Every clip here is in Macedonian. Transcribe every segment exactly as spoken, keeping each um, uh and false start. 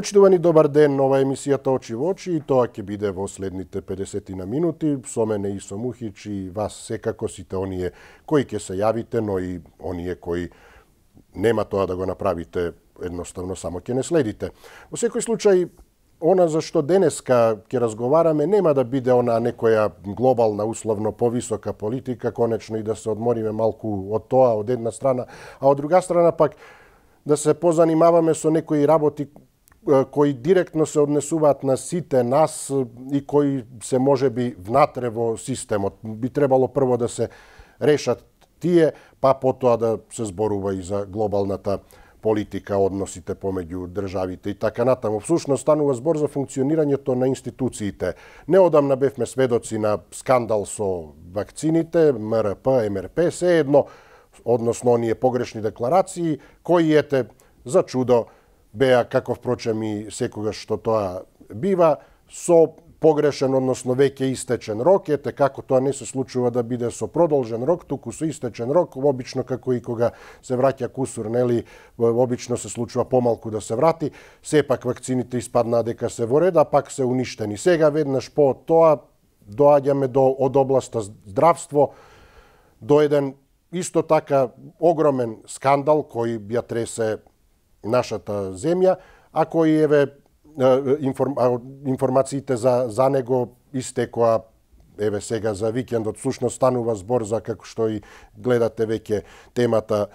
Почитувани, добар ден, нова емисијата Очи во очи, и тоа ќе биде во следните педесет на минути. Со мене и со Мухич и вас секако, сите оние кои ќе се јавите, но и оние кои нема тоа да го направите, едноставно само ќе не следите. Во секој случај, она за што денеска ќе разговараме нема да биде она некоја глобална, условно повисока политика, конечно и да се одмориме малку од тоа, од една страна, а од друга страна пак да се позанимаваме со некои работи кои директно се однесуваат на сите нас и кои се можеби внатре во системот. Би требало прво да се решат тие, па потоа да се зборува и за глобалната политика, односите помеѓу државите и така натаму. Всушност станува збор за функционирањето на институциите. Неодамна бевме сведоци на скандал со вакцините, М Р П, М Р П, се едно, односно оние погрешни декларации, кои ете за чудо беа, како впрочем и секогаш што тоа бива, со погрешен, односно веќе истечен рок. Ете како тоа не се случува да биде со продолжен рок, туку со истечен рок, обично како и кога се враќа кусур, нели, обично се случува помалку да се врати. Сепак вакцините испаднаа дека се во ред, а пак се уништени. Сега веднаш по тоа доаѓаме до од областа здравство, до еден исто така огромен скандал кој ја тресе нашата земја, а кои еве информ, информациите за, за него истекоа еве сега за викендот. Всушност станува збор за, како што и гледате веќе темата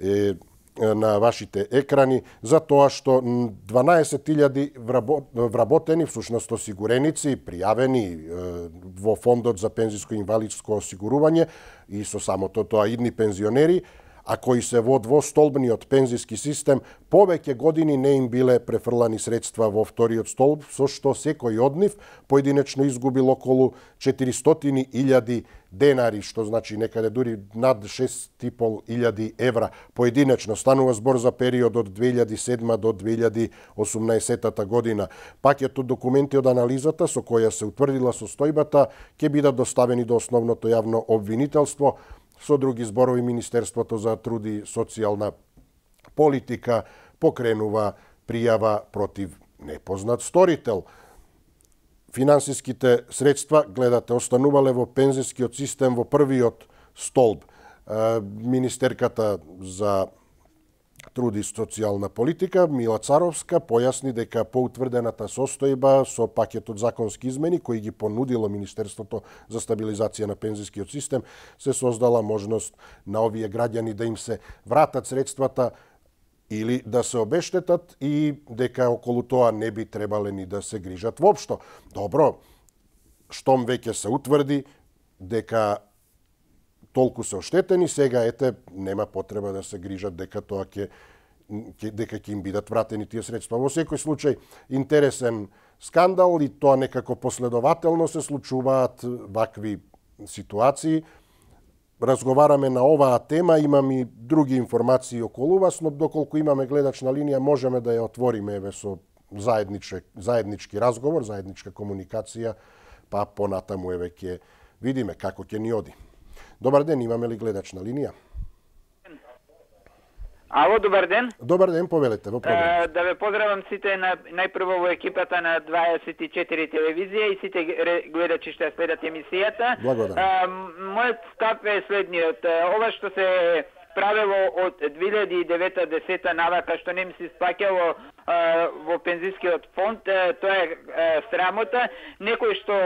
е, на вашите екрани, за тоа што дванаесет илјади вработени, всушност осигуреници, пријавени е, во фондот за пензиско инвалидско осигурување и со самото тоа идни пензионери, а кои се во двостолбниот пензиски систем, повеќе години не им биле префрлани средства во вториот столб, со што секој од нив поединечно изгубил околу четиристотини илјади денари, што значи некаде дури над шест и пол илјади евра поединечно. Станува збор за период од две илјади и седма до две илјади и осумнаесетта година. Пакетот документи од анализата со која се утврдила состојбата ќе бидат доставени до основното јавно обвинителство. Со други зборови, Министерството за труд и социјална политика покренува пријава против непознат сторител. Финансиските средства, гледате, останувале во пензискиот систем во првиот столб. Министерката за труд и социјална политика, Мила Царовска, појасни дека по утврдената состојба со пакетот законски измени кои ги понудило Министерството за стабилизација на пензискиот систем, се создала можност на овие граѓани да им се вратат средствата или да се обештетат и дека околу тоа не би требале ни да се грижат воопшто. Добро, штом веќе се утврди дека толку се оштетени, сега ете нема потреба да се грижат дека тоа ќе дека ќе им бидат вратени тие средства. Во секој случај интересен скандал и тоа некако последователно се случуваат вакви ситуации. Разговараме на оваа тема, имам и други информации околу вас, но доколку имаме гледачна линија можеме да ја отвориме еве со заеднички заеднички разговор, заедничка комуникација, па понатаму еве ќе видиме како ќе ни оди. Добар ден, имаме ли гледачна линија? Ало, добар ден. Добар ден, повелете во програма. Да ве поздравам сите на, најпрво во екипата на дваесет и четири телевизија и сите гледачи што следат емисијата. Благодарам. Мојот став е следниот. Ова што се правило од две илјади и девета до десета навака што не ми се исплаќало во пензискиот фонд, тоа е срамота. Некој што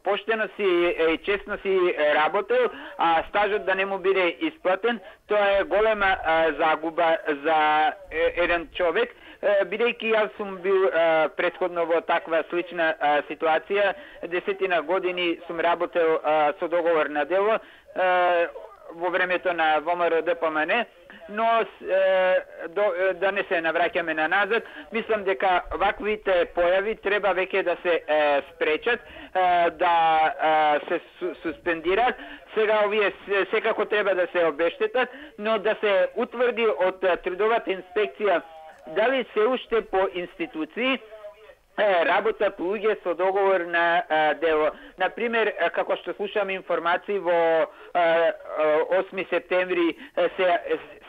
поштено си и честно си работел, а стажот да не му биде исплатен, тоа е голема загуба за еден човек. Бидејќи јас сум бил претходно во таква слична ситуација, десетина години сум работел со договор на дело во времето на Во М Р Д П М Н, но до, да не се навраќаме на назад, мислам дека ваквите појави треба веќе да се е, спречат, е, да е, се су, суспендираат. Сега овие секако треба да се обештетат, но да се утврди од трудовата инспекција дали се уште по институции работа по луѓе со договор на а, дело. Например, како што слушам информации во а, осми септември се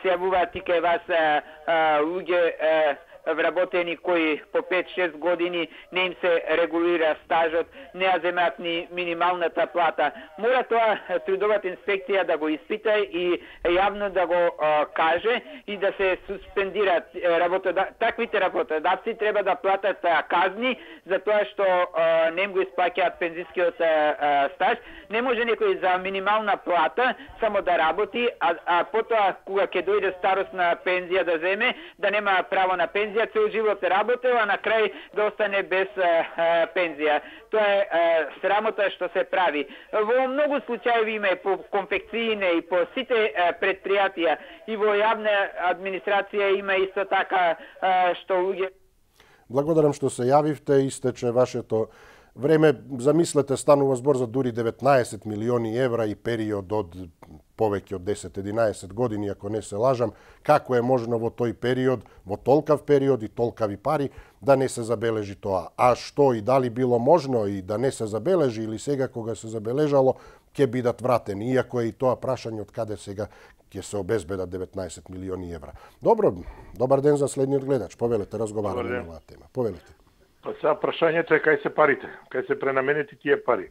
се јавуваат и кај вас а, а, луѓе а, вработени кои по пет-шест години не им се регулира стажот, не ја земаат ни минималната плата. Мора тоа трудовата инспекција да го испита и јавно да го а, каже и да се суспендираат работода... таквите работодавци треба да платат а, казни за тоа што а, не им го исплаќаат пензискиот а, стаж. Не може некој за минимална плата само да работи, а, а потоа кога ќе дојде старосна пензија да земе, да нема право на пензија, цел живот работел, а на крај да остане без а, а, пензија. Тоа е а, срамота што се прави. Во многу случаи има и по конфекцијне и по сите а, предпријатија и во јавна администрација има исто така а, што луѓе. Благодарам што се јавивте, истече вашето време. Замислете, станува збор за дури деветнаесет милиони евра и период од повеќе од десет-единаесет години, ако не се лажам. Како е можно во тој период, во толкав период и толкави пари, да не се забележи тоа? А што и дали било можно и да не се забележи, или сега кога се забележало, ќе бидат вратени, иако е и тоа прашање од каде сега ќе се обезбедат деветнаесет милиони евра. Добро, добар ден за следниот гледач. Повелете, разговараме на оваа тема. Повелете. Па сега прашањето е кај се парите, кај се пренаменети тие пари.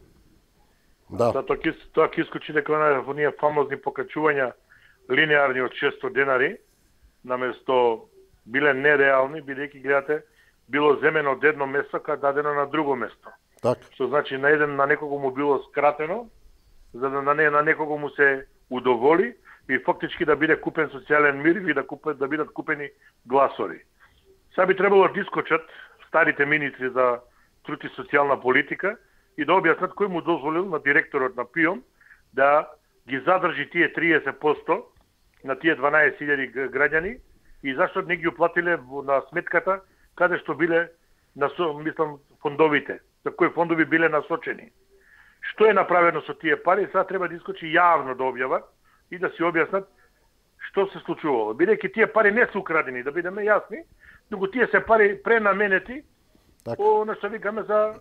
Да. Тоа ќе тоа ќе искочи дека во оние фамозни покачувања линеарни од шестстотини денари, наместо биле нереални, бидејќи гледате било земено од едно место кај дадено на друго место. Так. Што значи на еден на некого му било скратено, за да на не на некого му се удоволи и фактички да биде купен социјален мир и да купат да бидат купени гласови. Сега би требало да искочат старите министри за труд и социјална политика и да објаснат кој му дозволил на директорот на ПИОМ да ги задржи тие триесет проценти на тие дванаесет илјади граѓани и зашто не ги уплатиле на сметката каде што биле насо, мислам фондовите, за кои фондови биле насочени. Што е направено со тие пари, сега треба да искочи јавно да објават и да си објаснат што се случувало. Бидејќи тие пари не се украдени, да бидеме јасни, туку тие се пари пренаменети по нешто викаме за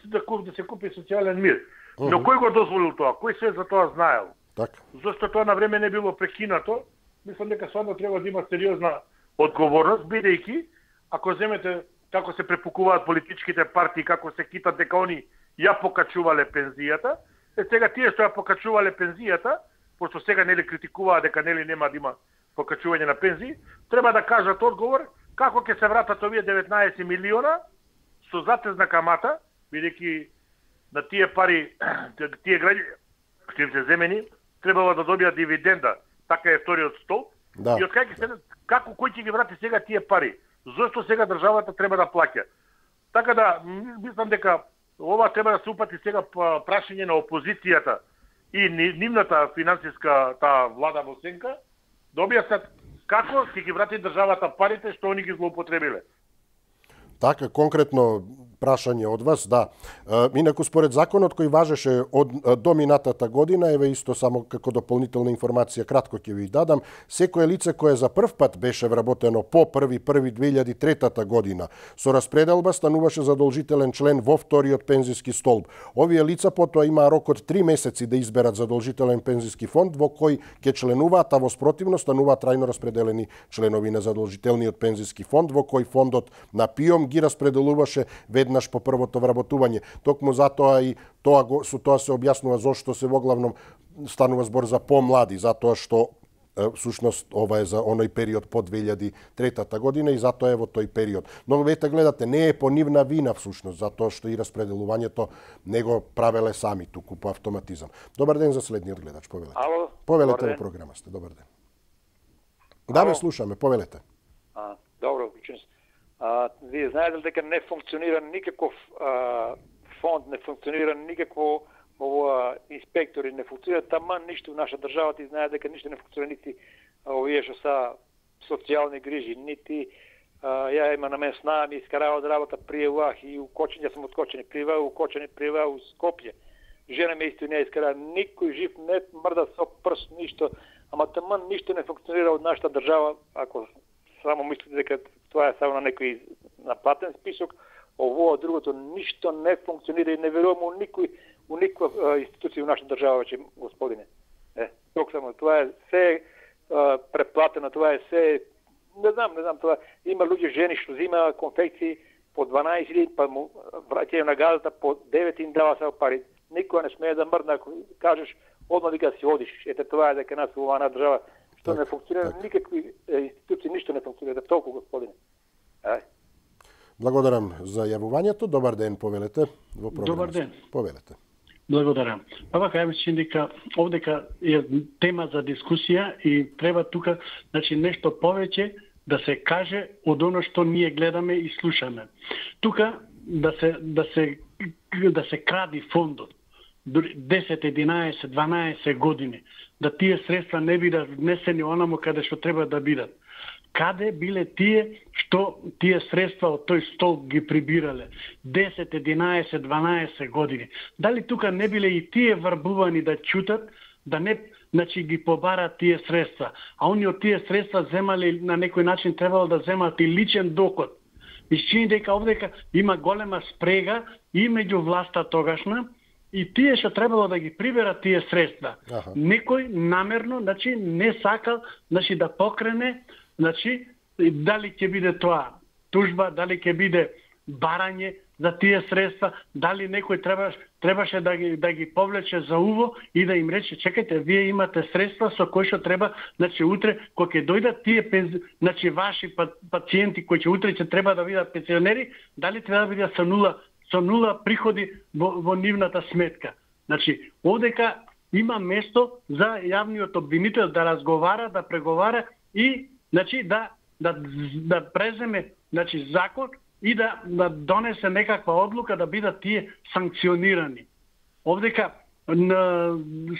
да, да се купи социјален мир. Uh -huh. Но кој го дозволил тоа? Кој се за тоа знаел? Так. Зошто тоа на време не било прекинато? Мислам дека стварно треба да има сериозна одговорност, бидејќи ако земете како се препукуваат политичките партии, како се китат дека они ја покачувале пензијата, е сега тие што ја покачувале пензијата, пошто сега нели критикуваат дека нели нема да има покачување на пензии, треба да кажат одговор како ќе се вратат овие деветнаесет милиона со затезна камата, бидејќи на тие пари, тие граѓани што им се земени, требало да добијат дивиденда, така е вториот столб. Да. И од кај ќе се како кој ќе ги врати сега тие пари? Зошто сега државата треба да плаќа? Така да мислам дека ова треба да се упати сега прашање на опозицијата и нивната финансиска таа влада во сенка, да објаснат како ќе ги врати државата парите што они ги злоупотребиле. Така, конкретно прашање од вас, да. Инаку, според законот кој важеше од до минатата година, еве исто само како дополнителна информација, кратко ќе ви дадам, секое лице кое за прв пат беше вработено по први први две илјади и трета година, со распределба стануваше задолжителен член во вториот пензиски столб. Овие лица потоа имаа рок од три месеци да изберат задолжителен пензиски фонд во кој ќе членуваат, а во спротивно стануваат трајно распределени членови на задолжителниот пензиски фонд, во кој фондот на ПИОМ ги распределуваше веднаш по првото вработување. Токму затоа и тоа го, со тоа се објаснува зошто се во главном станува збор за помлади, затоа што всушност ова е за оној период по две илјади и трета година и затоа е во тој период. Но вете гледате, не е по нивна вина всушност, затоа што и распределувањето не го правеле сами туку по автоматизам. Добар ден за следниот гледач, повелете. Ало, повелете во програма сте, добар ден. Да, ве слушаме, повелете. А, добро, ученост. А, вие знаете дека не функционира никаков а, фонд, не функционира никакво ова инспектори, не функционира таман ништо во наша држава, ти знае дека ништо не функционира нити овие што са социјални грижи, нити а, ја има на мен сна, ми искарава од работа пријавах и укочен, јас сум откочен, пријавах, укочен, пријавах у Скопје. Жена ме исто не искара, никој жив не мрда со прст, ништо, ама таман ништо не функционира од нашата држава, ако само мислите дека тоа е само на некој наплатен список, ово другото ништо не функционира и не верувам у никој у никаква институција во нашата држава веќе, господине. Е, ток само тоа е се е, преплатено, тоа е се Не знам, не знам тоа. Има луѓе жени што зима конфекции по дванаесет илјади, па му враќају на газата по девет и им дава само пари. Никој не смее да мрдне ако кажеш одма дека си одиш. Ете тоа е дека нас во оваа држава што не функционира, никакви институции, ништо не функционира. Толку, господине. Ај. Благодарам за јавувањето. Добар ден, повелете во програмата. Добар ден. Повелете. Благодарам. Па вака, ја мислам дека овдека е тема за дискусија и треба тука, значи, нешто повеќе да се каже од оно што ние гледаме и слушаме. Тука да се да се да се кради фондот десет, единаесет, дванаесет години, да тие средства не бидат внесени онамо каде што треба да бидат. Каде биле тие што тие средства од тој стол ги прибирале десет, единаесет, дванаесет години? Дали тука не биле и тие врбувани да чутат, да не, значи, ги побарат тие средства, а они од тие средства земали на некој начин требало да земат и личен доход. Исчини дека овдека има голема спрега и меѓу власта тогашна и тие што требало да ги приберат тие средства. Аха. Некој намерно, значи, не сакал, значи, да покрене, значи, дали ќе биде тоа тужба, дали ќе биде барање за тие средства, дали некој требаш, требаше да ги, да ги повлече за уво и да им рече, чекајте, вие имате средства со кои што треба, значи, утре, кога ќе дојдат тие пензи, значи, ваши пациенти кои ќе утре ќе треба да бидат пензионери, дали треба да бидат со нула, со нула приходи во, во нивната сметка. Значи, овдека има место за јавниот обвинител да разговара, да преговара и, значи, да да да преземе, значи, закон и да, да донесе некаква одлука да бидат тие санкционирани. Овдека на,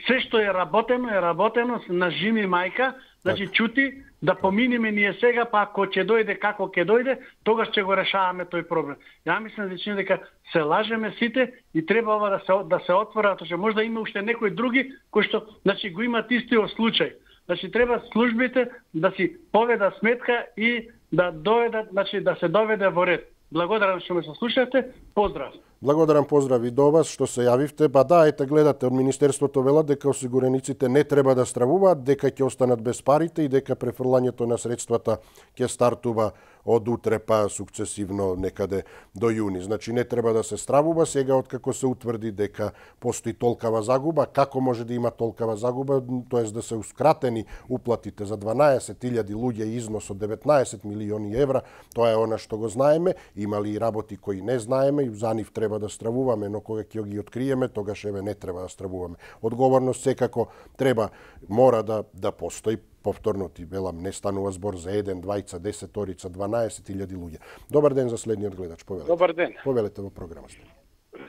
се што е работено е работено на жими мајка, значи так. Чути да поминиме ние сега, па ако ќе дојде како ќе дојде, тогаш ќе го решаваме тој проблем. Ја мислам дека дека се лажеме сите и треба ова да се да се отвора, тоа што можда има уште некои други кои што, значи, го имаат истиот случај. Значи, треба службите да си поведат сметка и да дојдат, значи, да се доведе во ред. Благодарам што ме слушате. Поздрав. Благодарам, поздрави до вас што се јавивте. Ба да, ете, гледате, од Министерството велат дека осигурениците не треба да стравуваат, дека ќе останат без парите и дека префрлањето на средствата ќе стартува од утре па сукцесивно некаде до јуни. Значи не треба да се стравува сега откако се утврди дека постои толкава загуба. Како може да има толкава загуба, тоест да се ускратени уплатите за дванаесет илјади луѓе и износ од деветнаесет милиони евра, тоа е она што го знаеме. Има ли и работи кои не знаеме и за нив треба да стравуваме, но кога ќе ги откриеме, тогаш еве не треба да стравуваме. Одговорност секако треба, мора да да постои. Повторно ти велам, не станува збор за еден, двајца, десеторица, дванаесет илјади луѓе. Добар ден за следниот гледач, повелете. Добар ден. Повелете во програмата.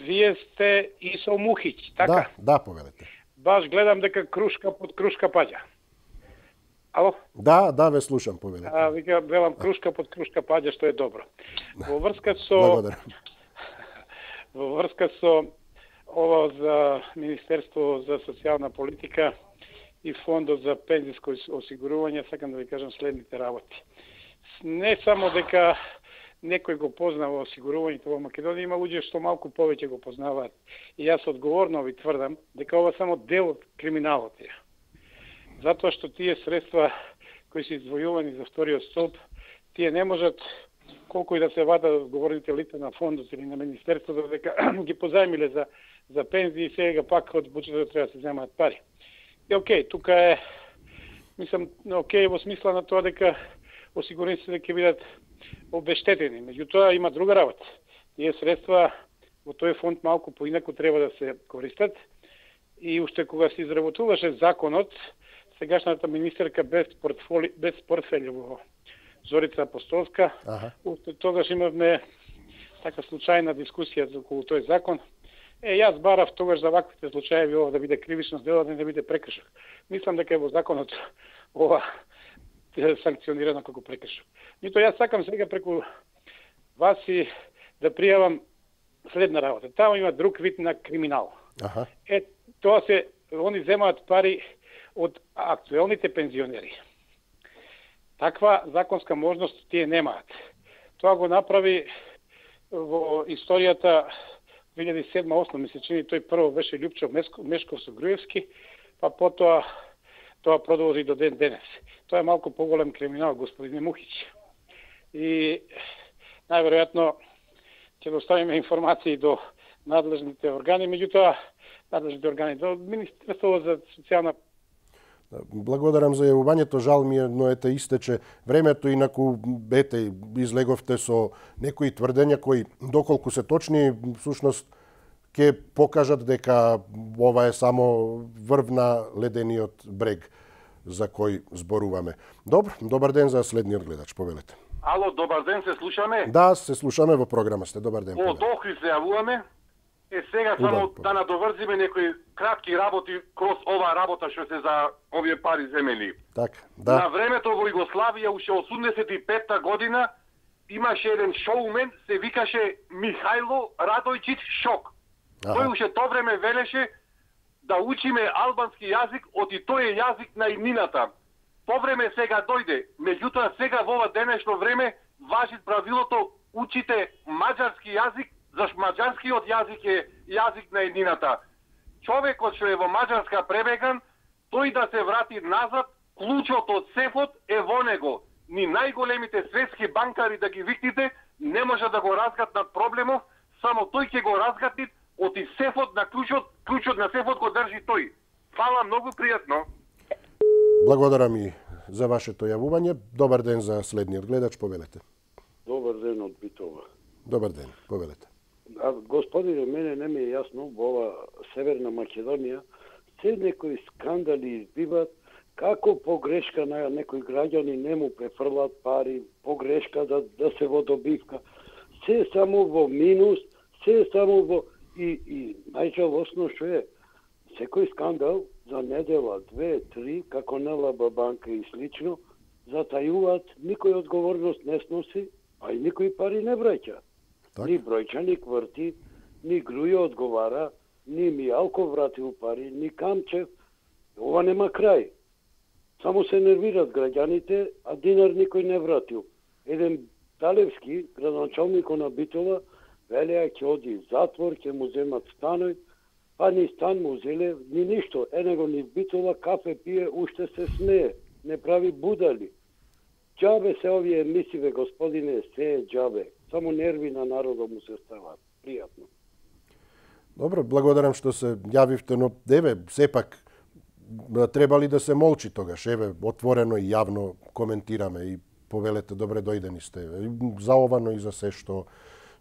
Вие сте Исо Мухиќ, така? Да, да, повелете. Баш гледам дека крушка под крушка паѓа. Ало? Да, да, ве слушам, повелете. А, вика, велам крушка под крушка паѓа, што е добро. Во врска со... Благодарам. Во врска со ова за Министерство за социјална политика и Фондот за пензиско осигурување, сакам да ви кажам следните работи. Не само дека некој го познава осигурувањето во Македонија, има луѓе што малку повеќе го познаваат. И јас одговорно ви тврдам дека ова само дел од криминалот е. Затоа што тие средства кои се издвојувани за вториот столб, тие не можат колку и да се вадат одговорните лица на фондот или на министерството дека ги позајмиле за за пензии и сега пак од буџетот треба да се земаат пари. И окей, тука е, мислам, окей во смисла на тоа дека осигурениците ќе бидат обештетени. Меѓутоа има друга работа. Тие средства во тој фонд малку поинаку треба да се користат и уште кога се изработуваше законот, сегашната министерка без портфоли, без портфели во Зорица Апостолска, ага. Уште тогаш имавме така случајна дискусија за околу тој закон. Е, јас барав тогаш за ваквите случаи ова да биде кривично дело, да не биде прекршок. Мислам дека е во законот ова санкционирано како прекршок. Нито јас сакам сега преку вас и да пријавам следна работа. Тamo има друг вид на криминал. Аха. Е, тоа се, они земаат пари од актуелните пензионери. Таква законска можност тие немаат. Тоа го направи во историјата две илјади седма осма ми се чини, тој прво беше Љупчо Мешков со Груевски, па потоа тоа продолжи до ден денес. Тоа е малку поголем криминал, господине Мухич. И најверојатно ќе доставиме информации до надлежните органи, меѓутоа надлежните органи до Министерството за социјална. Благодарам за јавувањето, жал ми е, но ете истече времето, инаку ете излеговте со некои тврдења кои доколку се точни, всушност ќе покажат дека ова е само врв на ледениот брег за кој зборуваме. Добро, добар ден за следниот гледач, повелете. Ало, добар ден, се слушаме? Да, се слушаме, во програма сте. Добар ден. Од Охрид се јавуваме. Е, сега само Убав, да надоврзиме некои кратки работи кроз ова работа што се за овие пари земени. Така, да. На времето во Југославија, уште осумдесет и петта година, имаше еден шоумен, се викаше Михајло Радојчиć Шок. Аха. Тој уште тоа време велеше да учиме албански јазик, оти тој е јазик на иднината. По време сега дојде, меѓутоа сега во ова денешно време важи правилото учите маđарски јазик, зашто маđарскиот јазик е јазик на иднината. Човекот што е во Маđарска пребеган, тој да се врати назад, клучот од сефот е во него. Ни најголемите светски банкари да ги викнете, не може да го разгатнат проблемов, само тој ќе го разгатни, оти сефот на клучот, клучот на сефот го држи тој. Фала, многу пријатно. Благодарам и за вашето јавување. Добар ден за следниот гледач, повелете. Добар ден од Битова. Добар ден, повелете. А, господине, мене не ми е јасно, во ова Северна Македонија, се некои скандали избиват, како погрешка на некои граѓани не му префрлат пари, погрешка да, да се во добивка. Се само во минус, се само во... И, и најжалосно што е, секој скандал за недела, две, три, како НЛБ банка и слично, затајуваат, никој одговорност не сноси, а и никој пари не враќа. Так. Ни Бројчаник врти, ни Грујо одговара, ни Мијалков вратил пари, ни Камчев. Ова нема крај. Само се нервират граѓаните, а динар никој не вратил. Еден Талевски, градоначалникот на Битола, велеа ќе оди в затвор, ќе му земат станој, па ни стан му зеле, ни ништо. Енего ни в Битола кафе пие, уште се смее, не прави будали. Џабе се овие емисиве, господине, се е џабе. Само нерви на народот му се стават. Пријатно. Добро, благодарам што се јавивте, но еве, сепак треба ли да се молчи тогаш? Еве, отворено и јавно коментираме и повелете добре дојдени сте. За ова, но и за се што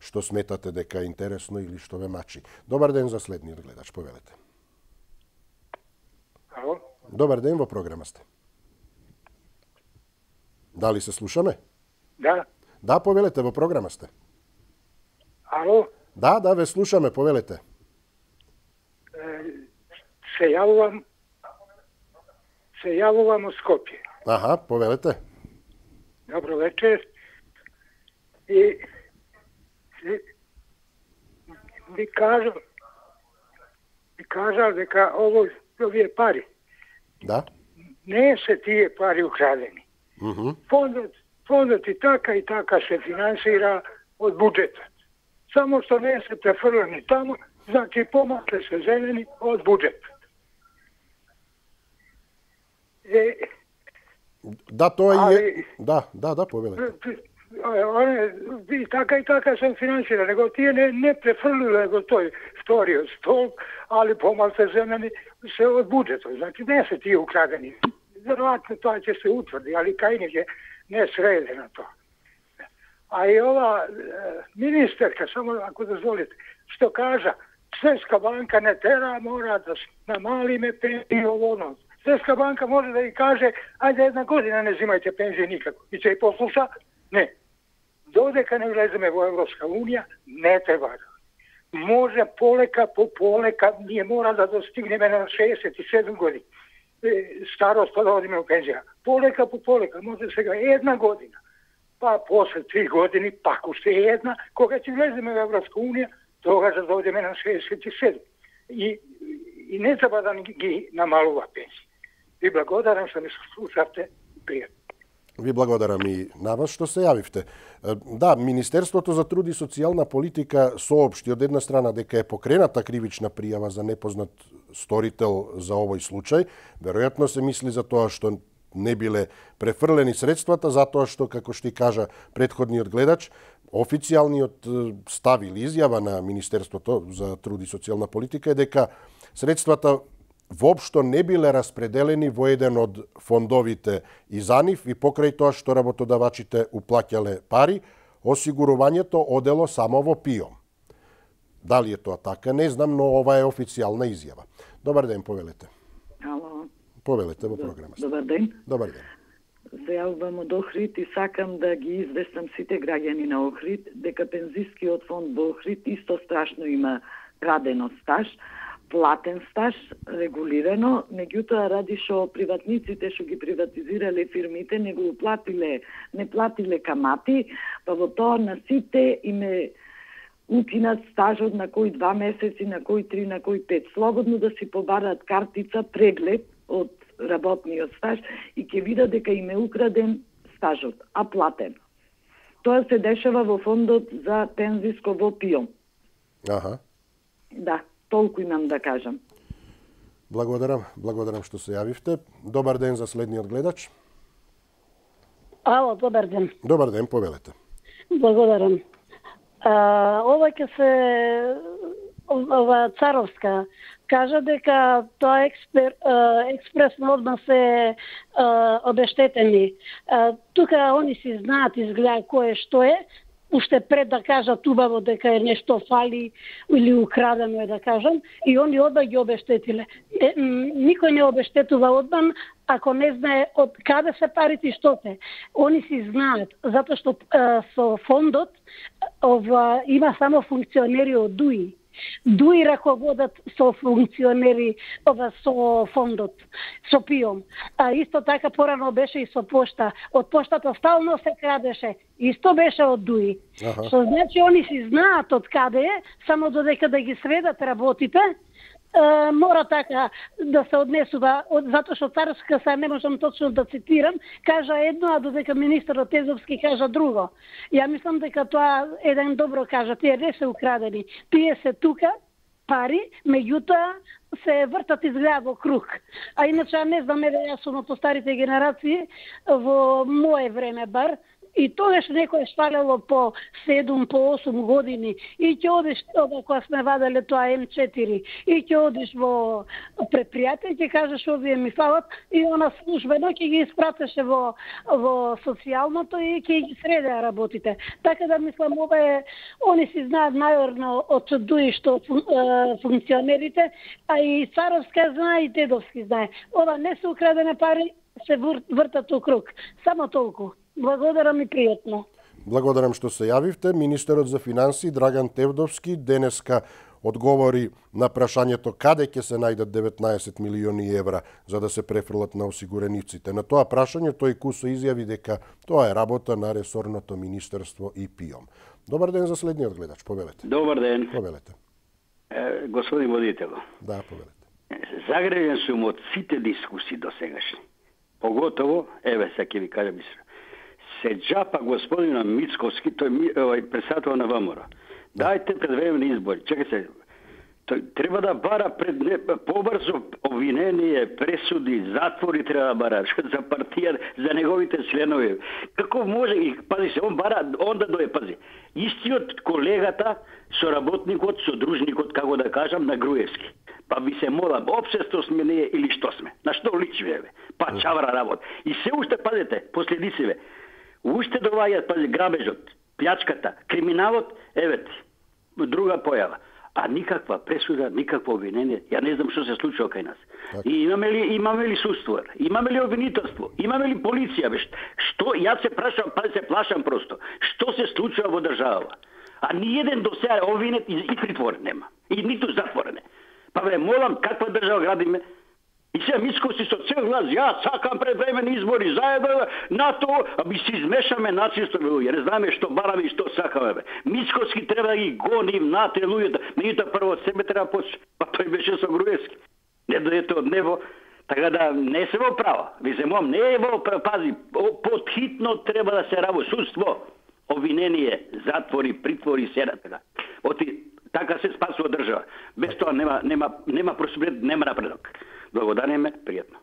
што сметате дека е интересно или што ве мачи. Добар ден за следниот гледач, повелете. Ало? Добар ден, во програма сте. Дали се слушаме? Да. Да, повелете, во програма сте. Ало? Да, да, ве слушаме, повелете. Се јавувам се јавувам од Скопје. Аха, повелете. Добро вечер. И ви кажам ви кажал дека ово овие пари Да. не се тие пари украдени. Mm -hmm. Фондот, фондот и така и така се финансира од буџетот. Само што не се префрлени таму, значи помакле се зелени од буџетот. Е, да, тоа али, е... Да, да, да, повелете. Оне, и така и така се финансира, него тие не, не префрлиле го тој вториот столб, али помалце земени се од буџетот. Значи не се тие украдени. Веројатно тоа ќе се утврди, али кај не не среде на тоа. А и ова министерка, само ако дозволите, што кажа, Светска банка не тера, мора да намалиме пензии ово. Светска банка може да и каже, ајде една година не взимајте пензии никако. И ќе и послуша, не. Додека не влеземе во Европска унија, не треба да. Може полека по полека, ние мора да достигнеме на шеесет и седум години. Старост па да одиме у пензија. Полека по полека, може сега една година. Па после три години, пак уште една, кога ќе влеземе во Европска унија, тогаш да одиме на шеесет и седум. И, и не треба да ги намалува пензија. И благодарам што ме слушавте. Пријатно. Ви благодарам и на вас што се јавивте. Да, Министерството за труд и социјална политика соопшти од една страна дека е покрената кривична пријава за непознат сторител за овој случај. Веројатно се мисли за тоа што не биле префрлени средствата, затоа што, како што и кажа претходниот гледач, официјалниот став или изјава на Министерството за труд и социјална политика е дека средствата воопшто не биле распределени во еден од фондовите и за нив и покрај тоа што работодавачите уплаќале пари, осигурувањето одело само во ПИОМ. Дали е тоа така, не знам, но ова е официјална изјава. Добар ден, повелете. Ало. Повелете во програмата. Добар ден. Добар ден. Се јавувам од Охрид и сакам да ги известам сите граѓани на Охрид дека пензискиот фонд во Охрид исто страшно има крадено стаж, платен стаж, регулирано, меѓутоа ради што приватниците што ги приватизирале фирмите не го платиле, не платиле камати, па во тоа на сите име укинат стажот на кои два месеци, на кои три, на кои пет. Слободно да си побараат картица, преглед од работниот стаж и ќе видат дека им е украден стажот, а платен. Тоа се дешава во фондот за пензиско во ПИОМ. Аха. Да, толку имам да кажам. Благодарам, благодарам што се јавивте. Добар ден за следниот гледач. Ало, добар ден. Добар ден, повелете. Благодарам. А, ова ќе се ова Царовска кажа дека тоа експер, експресно одма се а, обештетени. А, тука они си знаат изгледа кој е што е, уште пред да кажат убаво дека е нешто фали или украдено е да кажам, и они одма ги обештетиле. Е, никој не обештетува одма ако не знае од каде се парите и што се. Они си знаат, затоа што а, со фондот ова, има само функционери од ДУИ. ДУИ раководат со функционери ова со фондот, со ПИОМ. А исто така порано беше и со пошта. Од поштата стално се крадеше. Исто беше од ДУИ. Ага. Што значи они си знаат од каде е, само додека да ги сведат работите, Uh, мора така да се однесува, затоа што Царска, са не можам точно да цитирам, кажа едно, а додека министерот Тезовски кажа друго. Ја мислам дека тоа еден добро кажа, тие не се украдени, тие се тука пари, меѓутоа се вртат изгледа во круг. А иначе не знам, еве јас сум од постарите генерации, во мое време бар, и тогаш некој шпалело по седум, по осум години и ќе одиш, ова кога сме ваделе тоа М четири, и ќе одиш во предпријатие и ќе кажеш овие ми фалат и она службено ќе ги испратеше во, во социјалното и ќе ги средеа работите. Така да мислам, ова е, они си знаат најорно од ДУИ што функционерите, а и Царовска знае и Тедовски знае. Ова не се украдене пари, се вртат у круг. Само толку. Благодарам и пријатно. Благодарам што се јавивте. Министерот за финансии Драган Тевдовски денеска одговори на прашањето каде ќе се најдат деветнаесет милиони евра за да се префрлат на осигурениците. На тоа прашање тој кусо изјави дека тоа е работа на ресорното министерство и ПИОМ. Добар ден за следниот гледач, повелете. Добар ден. Повелете. Е, господин водител. Да, повелете. Загрежен сум од сите дискусии до сегашни. Поготово, еве се ќе ви кажам мислам. Се джапа господина Мицковски, тој е председател на ВМРО. Дајте предвремени избори. Чекај се. Тој треба да бара пред не, побрзо обвинение, пресуди, затвори треба да бара за партија, за неговите членови. Како може и пази се, он бара, он да дое, пази. Истиот колегата, соработникот, содружникот, како да кажам, на Груевски. Па би се молам, општество сме ние или што сме? На што личи, еве? Па чавра работа. И се уште, пазете, последици, уште доваѓаат, пази, грабежот, плячката, криминалот, еве, друга појава. А никаква пресуда, никакво обвинение. Ја не знам што се случува кај нас. Так. И имаме ли, имаме ли суствор? Имаме ли обвинителство? Имаме ли полиција? Бе? Што, јас се прашам, па се плашам просто. Што се случува во држава? А ни еден до сега обвинет и, и притворен нема. И ниту затворен. Па бе, молам, каква држава градиме? И се Мицковски со цел глас, ја сакам предвремени избори, заедно на тоа, а би се измешаме нацисто, луѓе, не знаме што бараме и што сакаме, бе. Мицковски треба да ги гоним нате луѓето, меѓутоа прво од себе треба почне, па тој беше со Груевски. Не дојдете од небо, Така да не се во право. Ви се мом, не е во пази, подхитно треба да се работи судство, обвинение, затвори, притвори, седа така. Оти така се спасува држава. Без тоа нема нема нема просперитет, нема напредок. Благодариме, пријатно.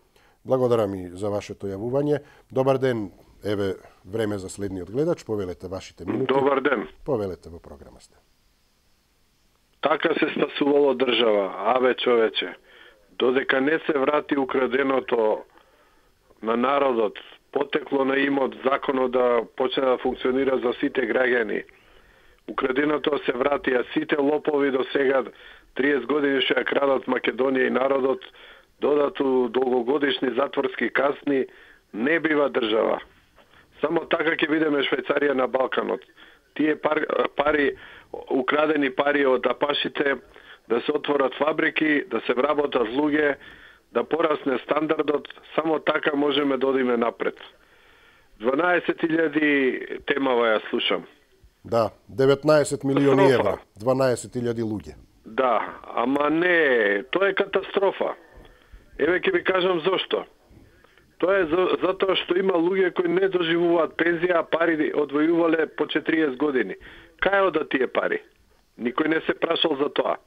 Благодарам и за вашето јавување. Добар ден. Еве време за следниот гледач, повелете вашите минути. Добар ден. Повелете во програма сте. Така се спасувало држава, аве човече. Додека не се врати украденото на народот, потекло на имот, законот да почне да функционира за сите граѓани. Украденото се врати, а сите лопови до сега триесет години што ја крадат Македонија и народот, додату долгогодишни затворски казни, не бива држава. Само така ќе видиме Швајцарија на Балканот. Тие пар, пари, украдени пари од апашите, да се отворат фабрики, да се вработат луѓе, да порасне стандардот, само така можеме да одиме напред. дванаесет илјади темава ја слушам. Да, деветнаесет милиони евра, дванаесет илјади луѓе. Да, ама не, тоа е катастрофа. Еве ќе ви кажам зошто. Тоа е за, затоа што има луѓе кои не доживуваат пензија, а пари одвојувале по четириесет години. Кај одат тие пари? Никој не се прашал за тоа.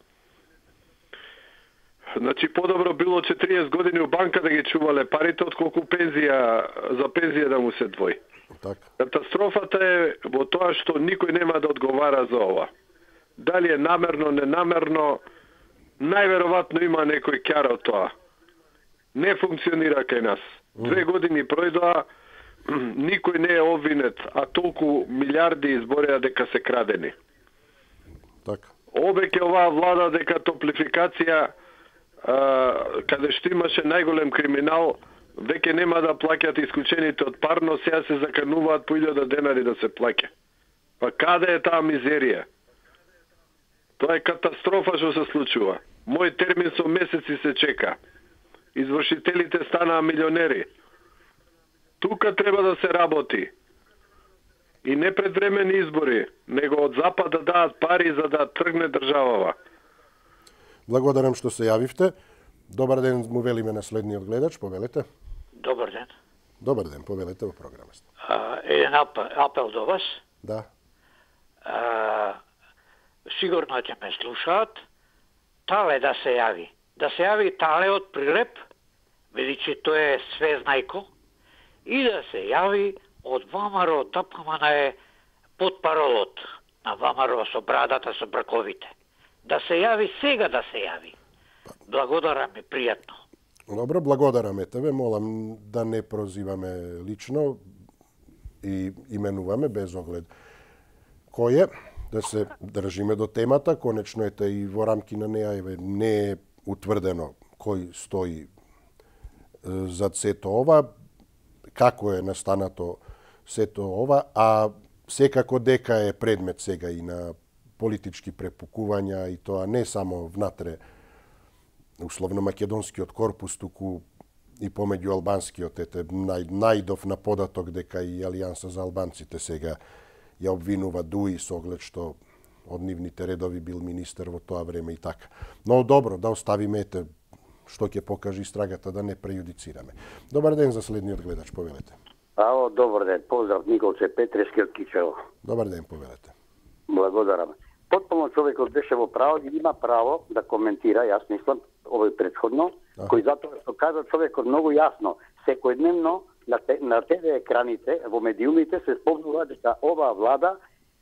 Значи, подобро било четириесет години у банка да ги чувале парите, отколку пензија, за пензија да му се двои. Так. Катастрофата е во тоа што никој нема да одговара за ова. Дали е намерно, ненамерно, најверојатно има некој ќар од тоа. Не функционира кај нас. Две години пројдоа, никој не е обвинет, а толку милиарди избореа дека се крадени. Така. Обеќе оваа влада дека топлификација, а, каде што имаше најголем криминал, веќе нема да плаќат исклучените од парно, сега се закануваат по илјада денари да се плаќа. Па каде е таа мизерија? Тоа е катастрофа што се случува. Мој термин со месеци се чека. Извршителите станаа милионери. Тука треба да се работи. И не предвремени избори, него од запад да дадат пари за да тргне државава. Благодарам што се јавивте. Добар ден, му велиме на следниот гледач, повелете. Добар ден. Добар ден, повелете во програмата. Еден апел, апел до вас. Да. А, сигурно ќе ме слушаат. Тале да се јави. Да се јави Тале од Прилеп, бидејќи тој е свезнајко, и да се јави од ВМРО ДПМН е потпаролот на ВМРО со брадата, со брковите. Да се јави сега, да се јави. Благодарам и пријатно. Добро, благодараме тебе. Молам да не прозиваме лично и именуваме без оглед кој е, да се држиме до темата. Конечно ете и во рамки на неја не е утврдено кој стои зад сето ова, како е настанато сето ова, а секако дека е предмет сега и на политички препукувања, и тоа не само внатре условно македонскиот корпус, туку и помеѓу албанскиот. Ете, нај, најдов на податок дека и Алијанса за албанците сега ја обвинува Дуи со оглед што од нивните редови бил министер во тоа време и така. Но добро, да оставиме ете што ќе покаже истрагата, да не прејудицираме. Добар ден за следниот гледач, повелете. Ао, добар ден, поздрав, Николче Петрешки од Кичево. Добар ден, повелете. Благодарам. Потполно човекот беше во право и има право да коментира, јас мислам, овој предходно, а. кој затоа што кажа човекот многу јасно, секојдневно на, те, на ТВ екраните, во медиумите се спомнува дека оваа влада,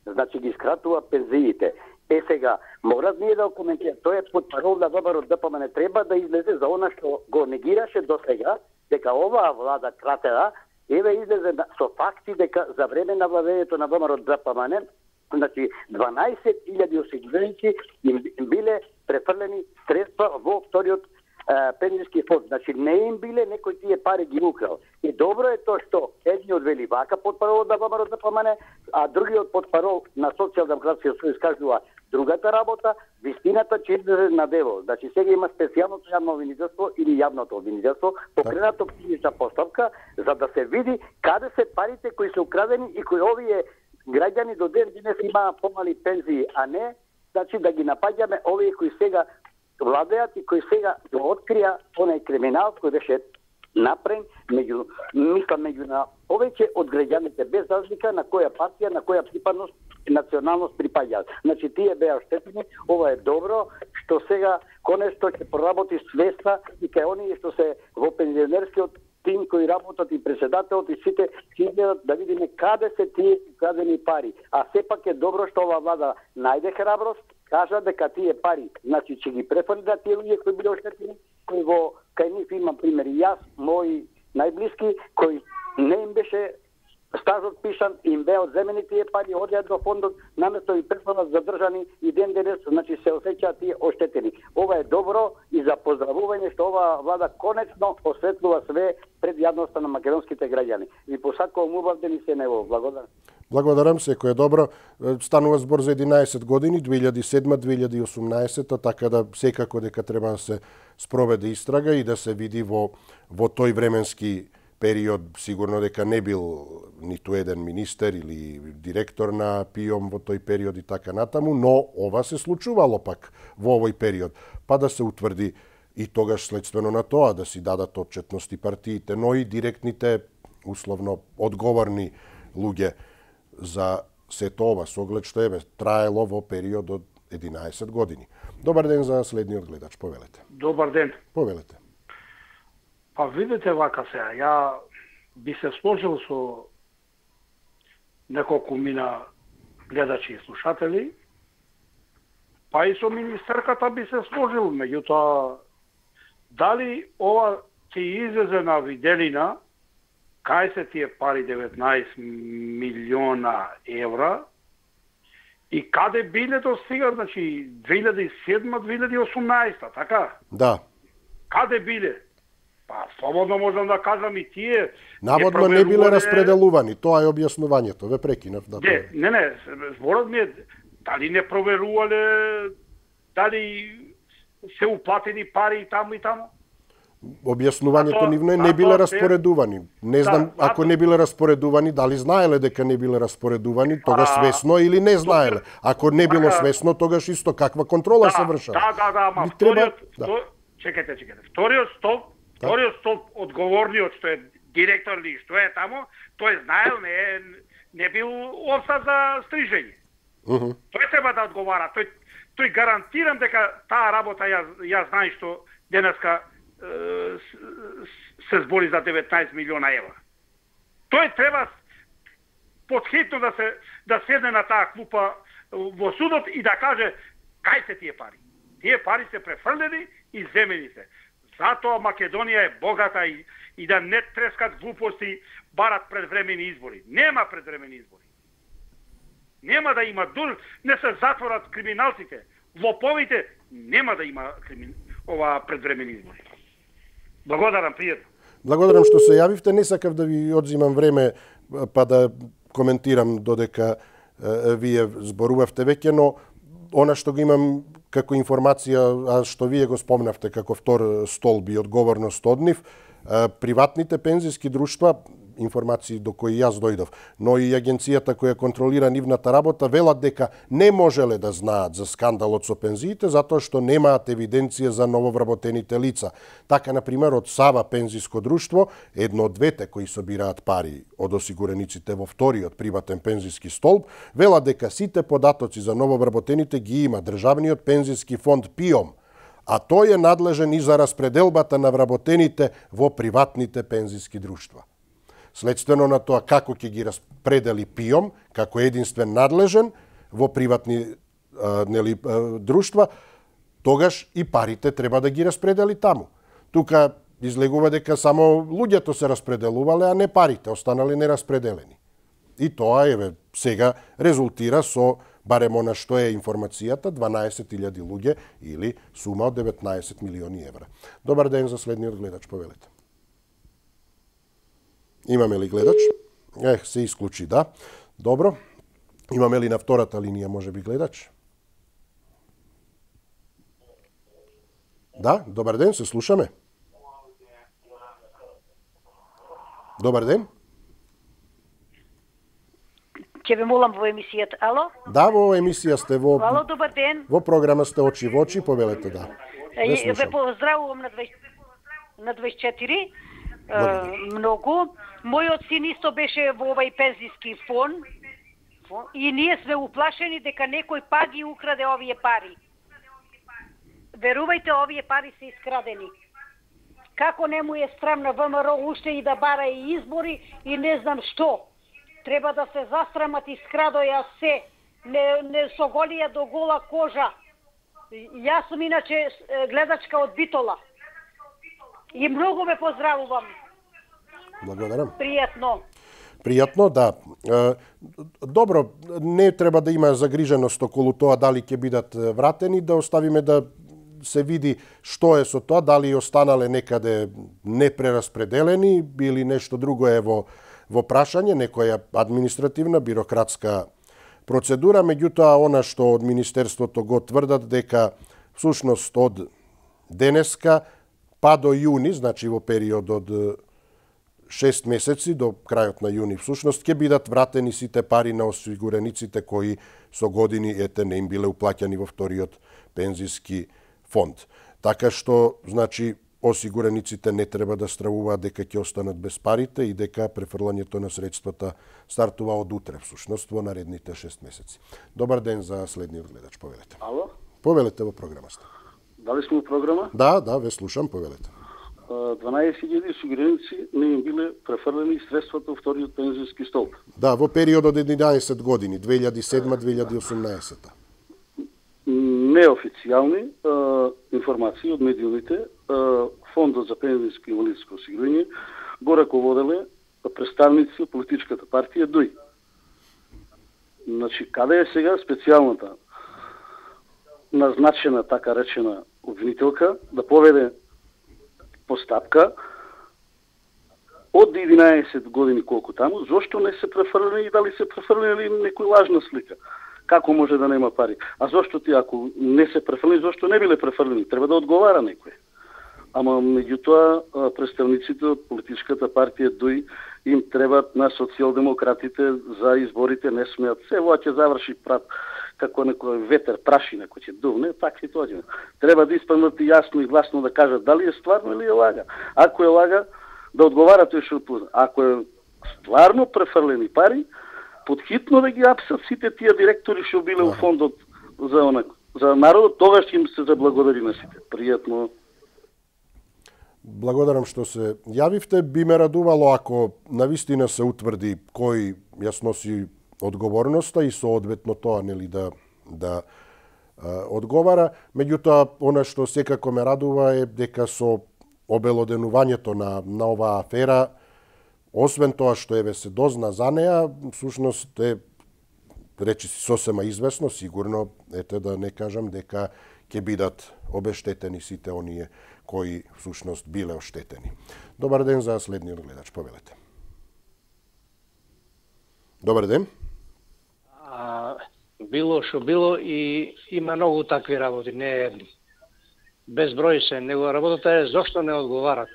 значи ги скратува пензиите. Е сега, мора ние да коментира, тој е под парол да ВМРО ДПМН треба да излезе за она што го негираше до сега, дека оваа влада кратера, еве излезе со факти дека за време на владењето на ВМРО ДПМН, значи дванаесет илјади осигуреници им биле префрлени средства во вториот пензиски фонд. Значи не им биле некој тие пари ги украл. И добро е тоа што едниот вели вака под парол на ВМРО ДПМН, а другиот под парол на Социјалдемократскиот сојуз кажува другата работа, вистината че излезе на дело. Значи сега има специјалното јавно обвинителство или јавното обвинителство, покренато криминична постапка за да се види каде се парите кои се украдени и кои овие граѓани до ден денес имаат помали пензии, а не значи да ги напаѓаме овие кои сега владеат и кои сега го открија онај криминал кој беше направен меѓу мислам меѓу на повеќе од граѓаните без разлика на која партија, на која припадност и националност припаѓаат. Значи тие беа оштетени, ова е добро што сега конечно ќе проработи свеста и кај оние што се во пензионерскиот тим кои работат и председателот и сите ќе гледат да видиме каде се тие крадени пари. А сепак е добро што ова влада најде храброст, кажа дека тие пари, значи ќе ги префрли на тие луѓе кои биле оштетени, кои во кај нив имам примери јас, мои најблиски, кои не им беше стажот пишан, им беа одземени тие пари, одеа до фондот, наместо и префрлат задржани и ден денес, значи се осеќаат тие оштетени. Ова е добро и за поздравување што ова влада конечно осветлува све пред јавноста на македонските граѓани. Ви посакувам убав ден и се нево. Благодарам. Благодарам, секој е добро. Станува збор за единаесет години, две илјади и седма - две илјади и осумнаесета, така да секако дека треба да се спроведе истрага и да се види во, во тој временски период, сигурно дека не бил ниту еден министер или директор на ПИОМ во тој период и така натаму, но ова се случувало пак во овој период, па да се утврди и тогаш следствено на тоа да си дадат отчетности партиите, но и директните, условно, одговорни луѓе за сето ова, со оглед што еве траело во период од единаесет години. Добар ден за следниот гледач, повелете. Добар ден. Повелете. Па видите вака сега, ја би се сложил со неколку мина гледачи и слушатели, па и со министерката би се сложил, меѓутоа дали ова ќе излезе на виделина кај се тие пари деветнаесет милиона евра и каде биле до сега, значи две илјади и седма - две илјади и осумнаесета, така? Да. Каде биле? Па, слободно можам да кажам и тие... Наводно не биле распределувани, тоа е објаснувањето, ве прекинав. Да, не, не, не, зборот ми е, дали не проверувале, дали се уплатени пари и таму и таму? Објаснувањето нивно е не биле распоредувани. Не знам, да, ако не биле распоредувани, дали знаеле дека не биле распоредувани, тогаш свесно или не знаеле. Ако не било свесно, тогаш исто каква контрола да, се вршава. Да, да, да, ама вториот, да. Втор... чекайте, чекайте. Вториот столб, да. Вториот столб одговорниот што е директор или што е таму, тој знаел, не е, не бил овца за стрижење. Uh -huh. Тој треба да одговара. Тој, тој гарантирам дека таа работа ја, ја знае што денеска се збори за деветнаесет милиона евра. Тој треба подхитно да се да седне на таа клупа во судот и да каже кај се тие пари. Тие пари се префрлени и земени се. Затоа Македонија е богата и, и да не трескат глупости, барат предвремени избори. Нема предвремени избори. Нема да има дур, не се затворат криминалците, лоповите, нема да има кримин... ова предвремени избори. Благодарам, пријатно. Благодарам што се јавивте. Не сакав да ви одзимам време па да коментирам додека е, вие зборувавте веќе, но она што го имам како информација, а што вие го спомнавте како втор столб и одговорност од нив, приватните пензиски друштва, информации до кои јас дојдов, но и агенцијата која контролира нивната работа, велат дека не можеле да знаат за скандалот со пензиите, затоа што немаат евиденција за нововработените лица. Така, например, од Сава пензиско друштво, едно од двете кои собираат пари од осигурениците во вториот приватен пензиски столб, велат дека сите податоци за нововработените ги има Државниот пензиски фонд ПИОМ, а тој е надлежен и за распределбата на вработените во приватните пензиски друштва. Следствено на тоа како ќе ги распредели ПИОМ, како единствен надлежен во приватни а, нели, а, друштва, тогаш и парите треба да ги распредели таму. Тука излегува дека само луѓето се распределувале, а не парите, останали нераспределени. И тоа, еве, сега резултира со, барем она што е информацијата, дванаесет илјади луѓе или сума од деветнаесет милиони евра. Добар ден за следниот гледач, повелете. Имаме ли гледач? Ех, се исклучи, да. Добро. Имаме ли на втората линија, може би, гледач? Да, добар ден, се слушаме. Добар ден. Ќе ве молам во емисијата. Ало? Да, во емисија сте во... Ало, добар ден. Во програма сте очи во очи, повелете, да. И ве поздравувам на дваесет и четири. Многу. Мојот син исто беше во овај пензиски фонд и ние сме уплашени дека некој па ги украде овие пари. Верувајте, овие пари се искрадени. Како не му е срам на ВМРО уште и да бара и избори и не знам што. Треба да се застрамат и скрадоја се. Не, не соголија до гола кожа. Јас сум иначе гледачка од Битола. И многу ве поздравувам. Благодарам. Пријатно. Пријатно, да. Добро, не треба да има загриженост околу тоа дали ќе бидат вратени, да оставиме да се види што е со тоа, дали останале некаде непрераспределени или нешто друго е во, во прашање, некоја административна, бирократска процедура, меѓутоа она што од Министерството го тврдат дека всушност од денеска па до јуни, значи во период од шест месеци до крајот на јуни всушност ќе бидат вратени сите пари на осигурениците кои со години ете не им биле уплаќани во вториот пензиски фонд. Така што, значи, осигурениците не треба да стравуваат дека ќе останат без парите и дека префрлањето на средствата стартува од утре, всушност, во наредните шест месеци. Добар ден за следниот гледач, повелете. Ало? Повелете во програмата. Дали сме во програма? Да, да, ве слушам, повелете. дванаесет илјади осигуреници не им биле префрлени средствата во вториот пензиски столб. Да, во период од единаесет години, две илјади и седма - две илјади и осумнаесета. Неофицијални е, информации од медиумите, е, Фондот за пензијско и инвалидско осигурување го раководеле представници од политичката партија ДУИ. Значи, каде е сега специјалната назначена, така речена, обвинителка да поведе постапка од единаесет години колку таму, зошто не се префрлени и дали се префрлени некој лажна слика? Како може да нема пари? А зошто ти, ако не се префрлени, зошто не биле префрлени? Треба да одговара некој. Ама меѓутоа представниците од политичката партија ДУИ им требат на социјалдемократите за изборите, не смеат. Се во ќе заврши прат како некој ветер прашина кој ќе дувне, така и тоа. Треба да испаднат јасно и гласно да кажат дали е стварно или е лага. Ако е лага, да одговара тој што отпусна. Ако е стварно префрлени пари, подхитно да ги апсат сите тие директори што биле во фондот за онак, за народот, тогаш ќе им се заблагодари на сите. Пријатно. Благодарам што се јавивте. Би ме радувало ако навистина се утврди кој ја сноси одговорноста и соодветно тоа нели да да а, одговара. Меѓутоа, она што секако ме радува е дека со обелоденувањето на на оваа афера, освен тоа што еве се дозна за неа, всушност е речиси сосема известно, сигурно, ете да не кажам дека ќе бидат обештетени сите оние кои всушност биле оштетени. Добар ден за следниот гледач, повелете. Добар ден. А, било што било и има многу такви работи, не едни. Безброј се, него работата е зошто не одговарат.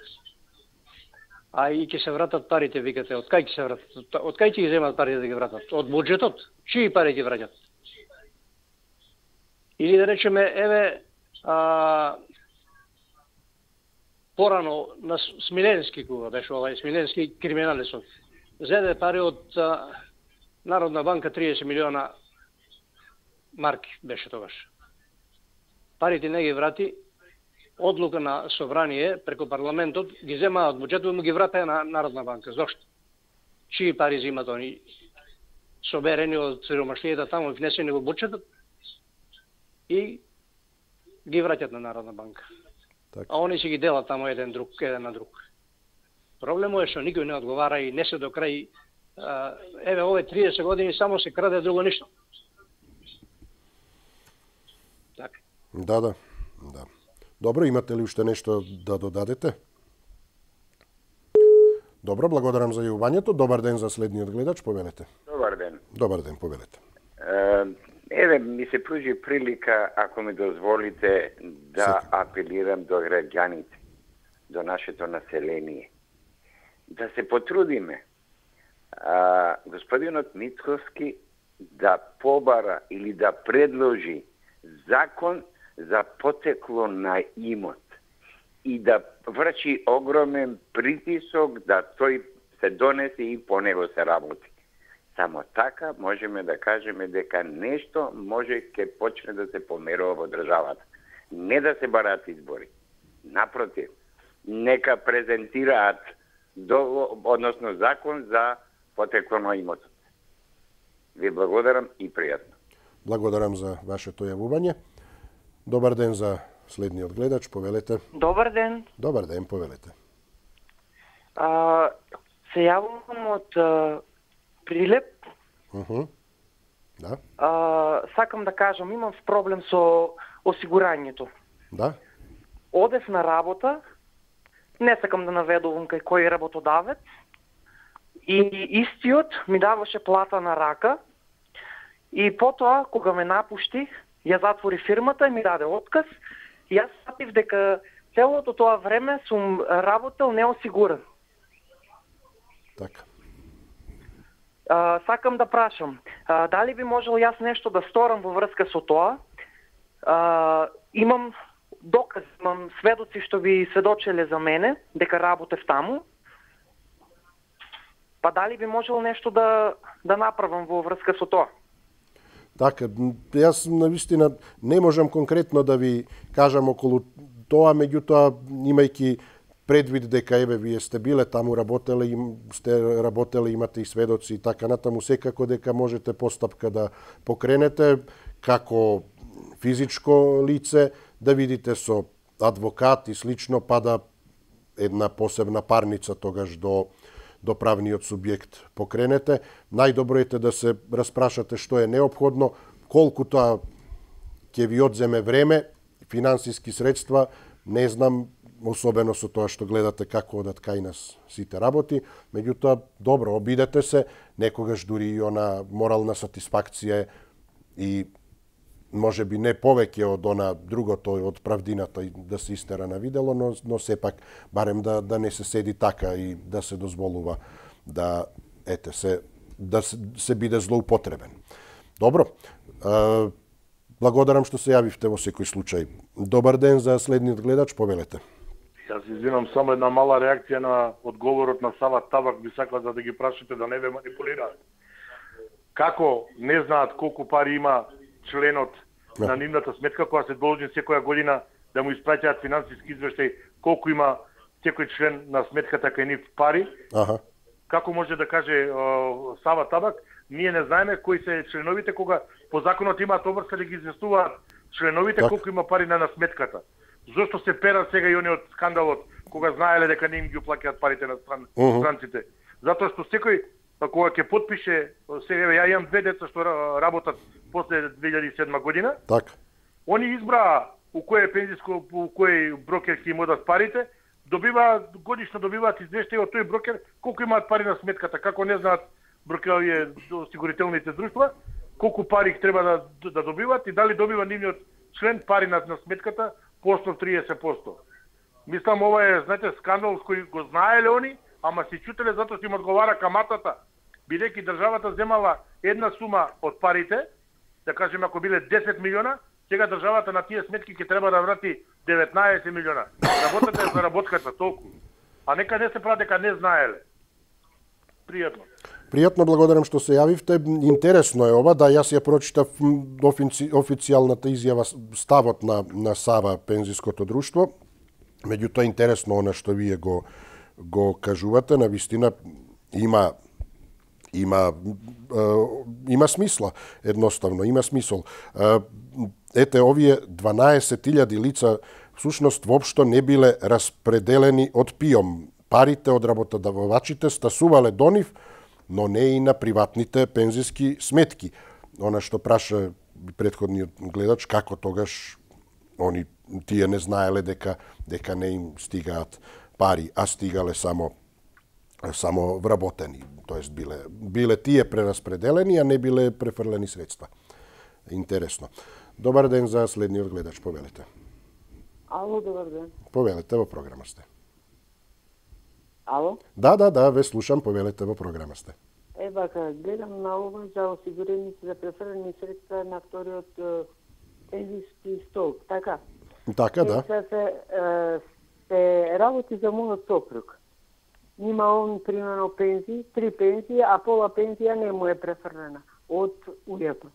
А и ќе се вратат парите, викате, од кај ќе се вратат? Од кај ќе ги земат парите да ги вратат? Од буџетот? Чии пари ги враќат? Или да речеме, еве, а, порано на Смиленски, кога беше овај Смиленски криминалисот, зеде пари од а, Народна банка триесет милиона марки беше тогаш. Парите не ги врати, одлука на собрание преку парламентот ги зема од буџетот и му ги врата на Народна банка. Зошто? Чии пари земат они? Соберени од сиромаштијата таму и внесени во буџетот и ги враќат на Народна банка. Так. А они си ги делат таму еден друг, еден на друг. Проблемот е што никој не одговара и не се до крај. Еве, овие триесет години само се краде, друго ништо. Така. Да, да, да. Добро, имате ли уште нешто да додадете? Добро, благодарам за јавувањето. Добар ден за следниот гледач, повелете. Добар ден. Добар ден, повелете. Еве, ми се пружи прилика, ако ми дозволите, да Сетим. апелирам до граѓаните, до нашето население. Да се потрудиме. А, господинот Мицковски да побара или да предложи закон за потекло на имот и да врши огромен притисок да тој се донесе и по него се работи. Само така можеме да кажеме дека нешто може ке почне да се померува во државата. Не да се бараат избори. Напротив, нека презентираат до, односно закон за потекло на имотот. Ви благодарам и пријатно. Благодарам за вашето јавување. Добар ден за следниот гледач, повелете. Добар ден. Добар ден, повелете. А, се јавувам од а, Прилеп. Uh -huh. Да. А, сакам да кажам, имам проблем со осигурањето. Да. Одев на работа, не сакам да наведувам кај кој работодавец, и истиот ми даваше плата на рака, и потоа, кога ме напушти, ја затвори фирмата и ми даде отказ, и јас сатив дека целото тоа време сум работел неосигуран. Така. А, сакам да прашам, а, дали би можел јас нешто да сторам во врска со тоа? А, имам доказ, имам сведоци што би сведочеле за мене, дека работев таму. Па дали би можел нешто да, да направам во врска со тоа? Така, јас навистина не можам конкретно да ви кажам околу тоа, меѓутоа имајќи предвид дека еве вие сте биле таму, работеле, им, сте работеле, имате и сведоци и така натаму, секако дека можете постапка да покренете како физичко лице, да видите со адвокат и слично, па да една посебна парница тогаш до до правниот субјект покренете. Најдобро е да се распрашате што е неопходно, колку тоа ќе ви одземе време, финансиски средства, не знам, особено со тоа што гледате како одат кај нас сите работи, меѓутоа добро, обидете се, некогаш дури и она морална сатисфакција и може би не повеќе од она другото, од правдината и да се истера на видело, но, но сепак барем да, да не се седи така и да се дозволува да ете се да се, се биде злоупотребен. Добро. Е, благодарам што се јавивте во секој случај. Добар ден за следниот гледач, повелете. Јас извинам, само една мала реакција на одговорот на Сава Табак, би сакал да ги прашате да не ве манипулираат. Како не знаат колку пари има членот да. на нивната сметка, која се должни секоја година да му испраќаат финансиски извештај, колку има секој член на сметката кај нив пари? Аха. Како може да каже о, Сава Табак, ние не знаеме кои се членовите, кога по законот имаат обврска да ги известуваат членовите так. Колку има пари на, на сметката. Зошто се перат сега и они од скандалот, кога знаеле дека не им ги уплаќаат парите на стран, uh -huh. странците? Затоа што секој кога ќе потпише, сега ја имам две деца што работат после две илјади и седма година. Так. Они избраа у кој пензиско, у кој брокер ќе им одат парите, добиваат годишно добиваат извештај од тој брокер колку имаат пари на сметката, како не знаат брокеровите осигурителните друштва, колку пари треба да, да добиваат и дали добива нивниот член пари на, на сметката по основ триесет проценти. Мислам ова е, знаете, скандал кој го знаеле они, ама се чутеле затоа што им одговара каматата, бидејќи државата земала една сума од парите, да кажеме ако биле десет милиона, сега државата на тие сметки ќе треба да врати деветнаесет милиона. Работата е за работката толку. А нека не се прави дека не знаеле. Пријатно. Пријатно, благодарам што се јавивте. Интересно е ова, да јас ја прочитав офици, официјалната изјава, ставот на, на Сава пензиското друштво. Меѓутоа интересно она што вие го го кажувате, на вистина има има има смисла, едноставно, има смисол. Ете, овие дванаесет илјади лица всушност воопшто не биле распределени од ПИОМ. Парите од работодавачите стасувале до нив, но не и на приватните пензиски сметки. Она што праша претходниот гледач, како тогаш они тие не знаеле дека дека не им стигаат пари, а стигале само само вработени, тоест биле биле тие прераспределени, а не биле префрлени средства. Интересно. Добар ден за следниот гледач, повелете. Ало, добар ден. Повелете, во програма сте. Ало? Да, да, да, ве слушам, повелете, во програма сте. Е, бака, гледам на ова за осигурените за префрлени средства на вториот пензиски столб, така? Така, да. Се, се, се работи за мојот сопруг. Има он, примерно, пензии, три пензии, а пола пензија не му е префрлена од УЈП.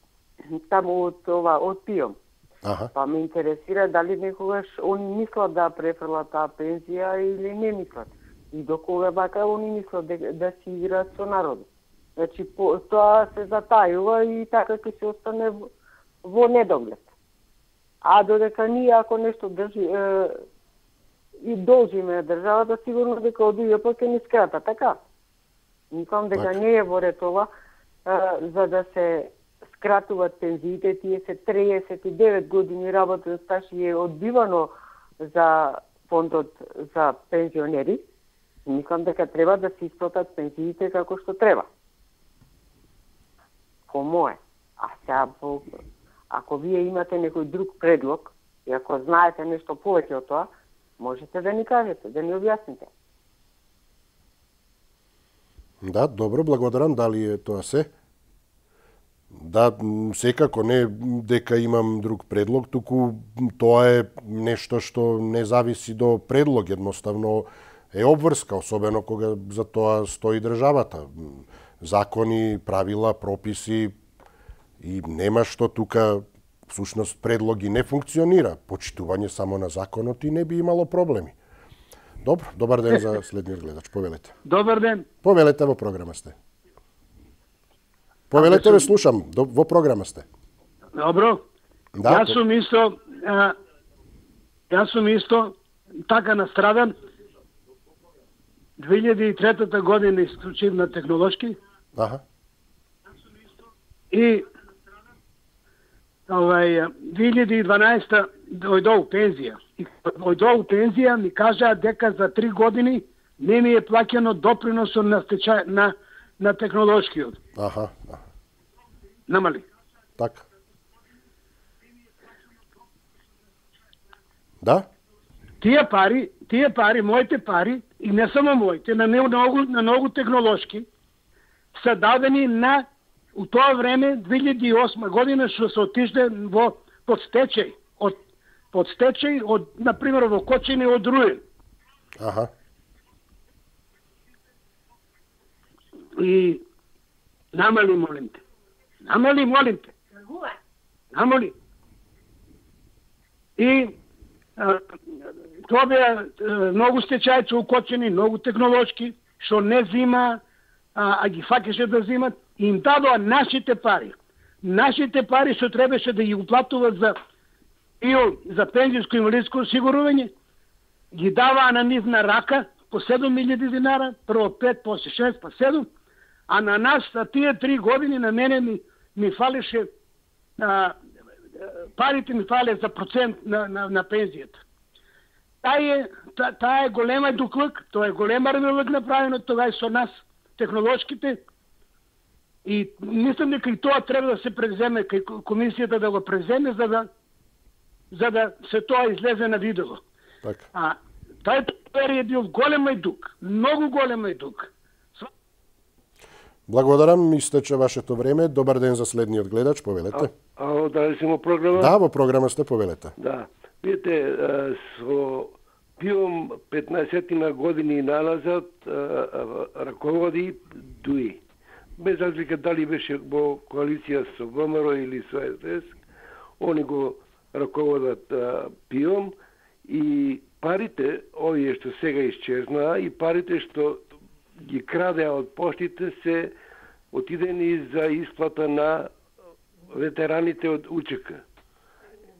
Таму од ова, од ПИОМ. Аха. Па ме интересира дали некогаш они мислат да префрлат таа пензија или не мислат. И до кога вака они мислат да, да си играат со народот. Значи, по, тоа се затајува и така ќе се остане во, во недоглед. А додека ние ако нешто држи е, и должиме државата, сигурно дека од УЈП ќе ни скрата, така? Мислам дека не е во ред ова, е, за да се скратуваат пензиите, тие се триесет и девет години работен стаж и е одбивано за фондот за пензионери. Мислам дека треба да се исплатат пензиите како што треба. По мое. А сега, по... ако вие имате некој друг предлог, и ако знаете нешто повеќе од тоа, можете да ни кажете, да ни објасните. Да, добро, благодарам. Дали е тоа се? Да, секако не дека имам друг предлог, туку тоа е нешто што не зависи до предлог, едноставно е обврска, особено кога за тоа стои државата. Закони, правила, прописи и нема што тука всушност предлоги не функционира. Почитување само на законот и не би имало проблеми. Добро, добар ден за следниот гледач. Повелете. Добар ден. Повелете, во програма сте. Повелете, ве слушам. Во програма сте. Добро. Да, јас сум исто, а, јас сум исто така настрадан. две илјади и трета година исклучив на технолошки. Аха. И овај две илјади и дванаесета дојдов пензија. И дојдов пензија ми кажаа дека за три години не ми е плаќено доприносот на стечај на на технолошкиот. Аха. аха. Намали. Така. Да? Тие пари, тие пари, моите пари, и не само моите, на многу, на многу технолошки, се дадени на, у тоа време, две илјади и осма година, што се отишле во подстечај, од подстечај, од, например, во Кочини, од Руен. Аха. И намали, молим те. Намали, молим те. Намали. И а, тоа беа многу стечајци укочени, многу технолошки, што не зима, а, а ги факеше да зимат, и им дадоа нашите пари. Нашите пари што требаше да ги уплатуват за ИО, за пензијско и инвалидско осигурување, ги даваа на нив на рака по седум илјади динара, прво пет, после шест, па седум, а на нас за тие три години на мене ми, ми фалеше, а, парите ми фале за процент на, на, на пензијата. Таа е, та, та е голема дуклък, тоа е голема ревелък направено, тоа е со нас, технолошките, и мислам дека и тоа треба да се преземе, кај комисијата да го преземе, за да, за да се тоа излезе на видео. Така. А тај период е бил голем ајдук, многу голем ајдук. Благодарам, истече вашето време. Добар ден за следниот гледач, повелете. А, а дали сме во програма? Да, во програма сте, повелете. Да. Видите, со ПИОМ петнаесет години налазад раководи ДУИ. Без разлика дали беше во коалиција со ВМРО или со Ес Де Ес, они го раководат ПИОМ и парите, овие што сега исчезнаа, и парите што ги крадеа од поштите се отидени за исплата на ветераните од УЧК.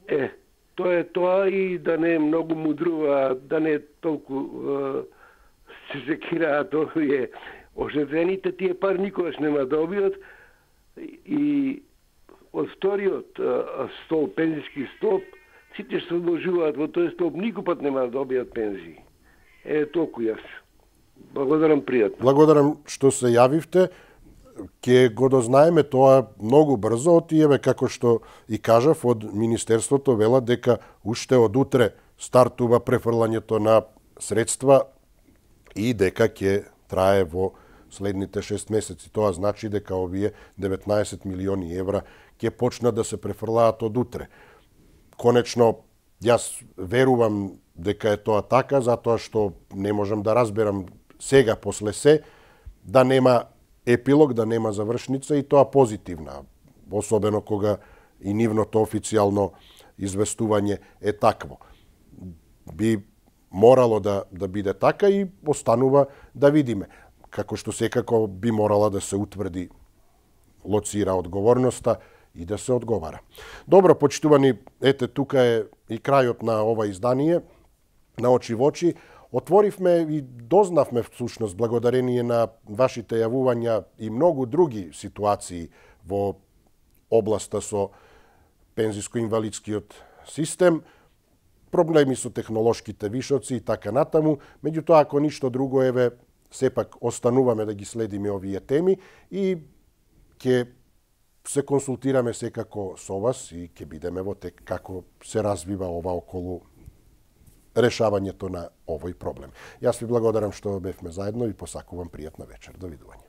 Е, тоа е тоа, и да не е многу мудрува, да не е толку е, се секираат овие ожедените, тие пари никогаш нема да добијат, и од вториот столб, пензијски столб, сите што вложуваат во тој столб никогаш нема да добијат пензии. Е, толку јас. Благодарам, пријатно. Благодарам што се јавивте. Ке го дознаеме тоа многу брзо, од тиеве, како што и кажав, од Министерството велат дека уште од утре стартува префрлањето на средства и дека ќе трае во следните шест месеци. Тоа значи дека овие деветнаесет милиони евра ќе почнат да се префрлаат од утре. конечно, јас верувам дека е тоа така, затоа што не можам да разберам сега после се да нема епилог, да нема завршница и тоа позитивна, особено кога и нивното официјално известување е такво. Би морало да, да биде така и останува да видиме. Како што секако би морала да се утврди, лоцира одговорноста и да се одговара. Добро, почитувани, ете, тука е и крајот на ова издание, на очи во очи. Отворивме и дознавме всушност благодарение на вашите јавувања и многу други ситуации во областа со пензиско-инвалидскиот систем, проблеми со технолошките вишоци и така натаму. Меѓутоа, ако ништо друго, еве, сепак остануваме да ги следиме овие теми и ќе се консултираме секако со вас и ќе бидеме во тек како се развива ова околу решавањето на овој проблем. Јас ви благодарам што бевме заедно и посакувам пријатна вечер. Довидување.